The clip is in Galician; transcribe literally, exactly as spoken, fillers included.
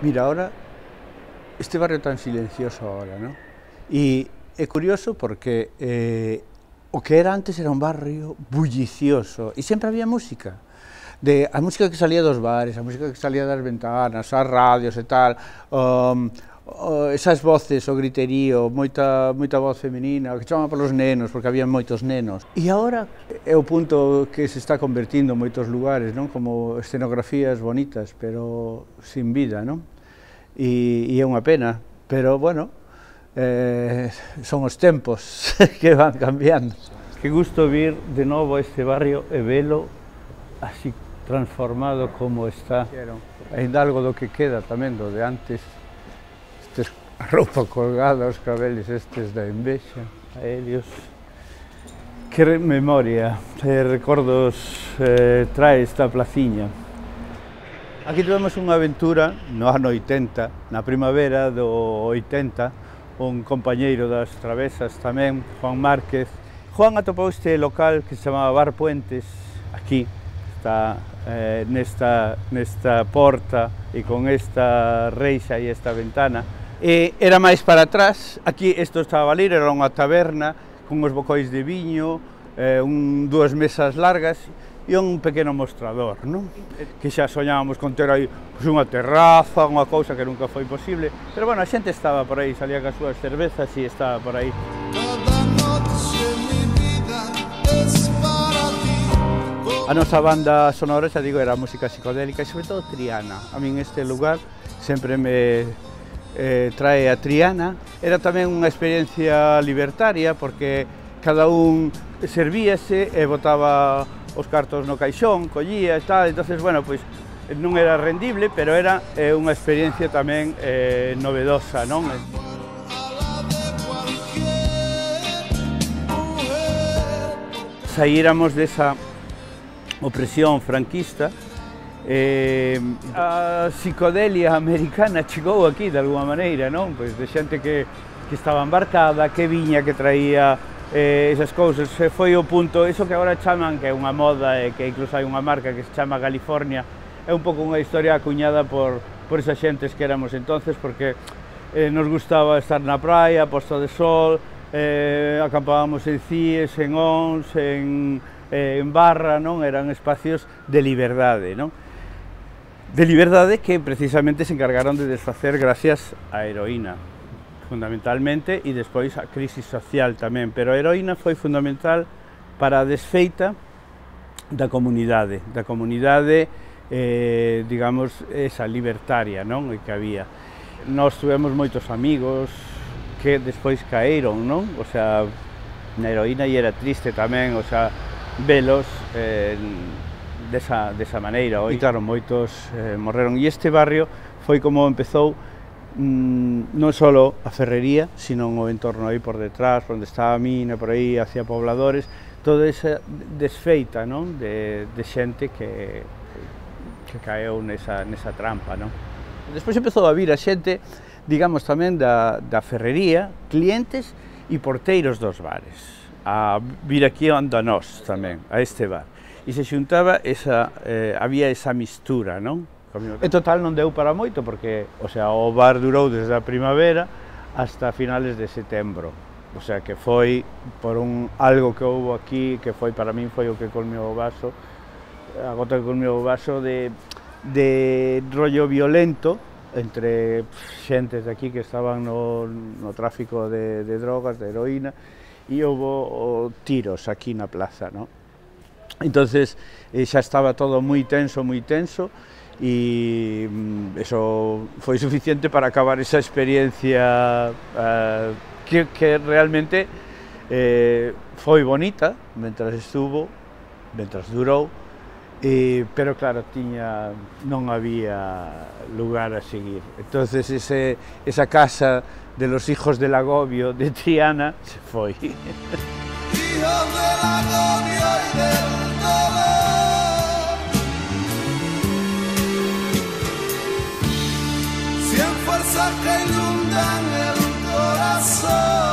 Mira, ahora, este barrio tan silencioso ahora, ¿no? Y é curioso porque eh, o que era antes era un barrio bullicioso e sempre había música. De, a música que salía dos bares, a música que salía das ventanas, as radios e tal, um, uh, esas voces, o griterío, moita, moita voz femenina, que chamaban polos nenos, porque había moitos nenos. E agora é o punto que se está convertindo en moitos lugares, non? Como escenografías bonitas, pero sin vida, non? E, e é unha pena, pero, bueno, eh, son os tempos que van cambiando. Que gusto vir de novo a este barrio e velo así transformado como está. Ainda algo do que queda tamén do de antes, estes, a roupa colgada, os cabeles estes da envexa, aéreos. Que memoria, eh, recordos eh, trae esta placiña. Aquí tivemos unha aventura no ano oitenta, na primavera do oitenta, un compañeiro das travesas tamén, Juan Márquez. Juan atopou este local que se chamaba Bar Puentes, aquí, está eh, nesta, nesta porta e con esta reixa e esta ventana. E era máis para atrás, aquí isto estaba a valer, era unha taberna con uns bocóis de viño, eh, un, dúas mesas largas e un pequeno mostrador, non? Que xa soñábamos con ter aí pues, unha terraza, unha cousa que nunca foi posible, pero bueno, a xente estaba por aí, salía cas súas cervezas e estaba por aí. A nosa banda sonora, xa digo, era música psicodélica e sobre todo Triana. A min este lugar sempre me eh, trae a Triana. Era tamén unha experiencia libertaria porque cada un servíase e botaba os cartos no caixón, collía e tal, entonces, bueno, pois non era rendible, pero era eh, unha experiencia tamén eh, novedosa, non? Saíramos desa opresión franquista, eh, a psicodelia americana chegou aquí de alguma maneira, non? Pois de xente que, que estaba embarcada, que viña, que traía eh, esas cousas, foi o punto, iso que agora chaman, que é unha moda e que incluso hai unha marca que se chama California, é un pouco unha historia acuñada por, por esas xentes que éramos entonces, porque eh, nos gustaba estar na praia, posto de sol, eh, acampábamos en Cies, en Ons, en, eh, en Barra, non? Eran espacios de liberdade, non? De liberdade que precisamente se encargaron de desfacer gracias á heroína, fundamentalmente, e despois a crisis social tamén, pero a heroína foi fundamental para a desfeita da comunidade, da comunidade, eh, digamos, esa libertaria, non? Que había. Nós tuvemos moitos amigos que despois caeron, non? O sea, na heroína e era triste tamén, o sea, velos eh, desa, desa maneira. E claro, moitos eh, morreron. E este barrio foi como empezou mmm, non só a ferrería, sino o entorno aí por detrás, onde estaba a mina, por aí, hacia pobladores, toda esa desfeita, non? De, de xente que, que caeu nesa, nesa trampa, non? Despois empezou a vir a xente, digamos, tamén da, da ferrería, clientes e porteiros dos bares, a vir aquí anda nós tamén, a este bar. E se xuntaba, esa, eh, había esa mistura, non? En total non deu para moito, porque, o sea, o bar durou desde a primavera hasta finales de setembro. O sea, que foi por un algo que houve aquí, que foi, para min, foi o que colmeu o vaso, a gota que colmeu o vaso de, de rollo violento entre xentes de aquí que estaban no, no tráfico de, de drogas, de heroína, e houve tiros aquí na plaza, ¿no? Entonces eh, xa estaba todo moi tenso, moi tenso, e mm, eso foi suficiente para acabar esa experiencia uh, que, que realmente eh, foi bonita mentras estuvo, mentras durou, eh, pero claro, tiña, non había lugar a seguir. Entonces ese, esa casa de los hijos del agobio de Triana se foi. Hijos del agobio y del dolor, cien fuerzas que inundan el corazón.